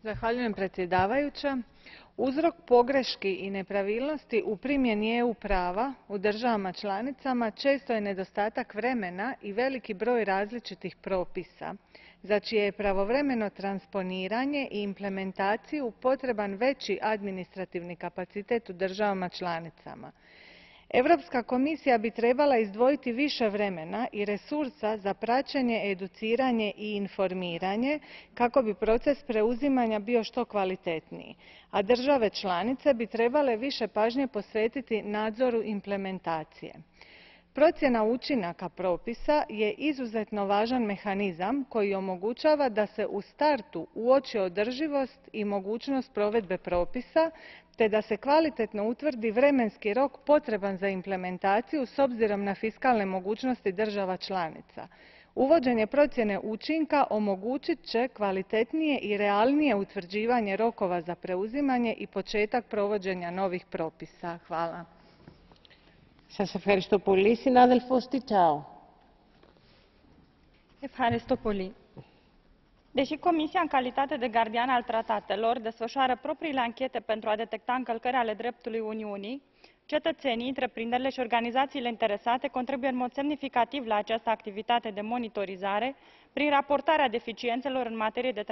Zahvaljujem predsjedavajuća. Uzrok pogreški i nepravilnosti u primjeni EU prava u državama članicama često je nedostatak vremena i veliki broj različitih propisa, za čije je pravovremeno transponiranje i implementaciju potreban veći administrativni kapacitet u državama članicama. Europska komisija bi trebala izdvojiti više vremena i resursa za praćenje, educiranje i informiranje kako bi proces preuzimanja bio što kvalitetniji, a države članice bi trebale više pažnje posvetiti nadzoru implementacije. Procjena učinaka propisa je izuzetno važan mehanizam koji omogućava da se u startu uoči održivost i mogućnost provedbe propisa, te da se kvalitetno utvrdi vremenski rok potreban za implementaciju s obzirom na fiskalne mogućnosti država članica. Uvođenje procjene učinka omogućit će kvalitetnije i realnije utvrđivanje rokova za preuzimanje i početak provođenja novih propisa. Hvala. Deși Comisia, în calitate de gardian al tratatelor, desfășoară propriile anchete pentru a detecta încălcări ale dreptului Uniunii, cetățenii, întreprinderile și organizațiile interesate contribuie în mod semnificativ la această activitate de monitorizare prin raportarea deficiențelor în materie de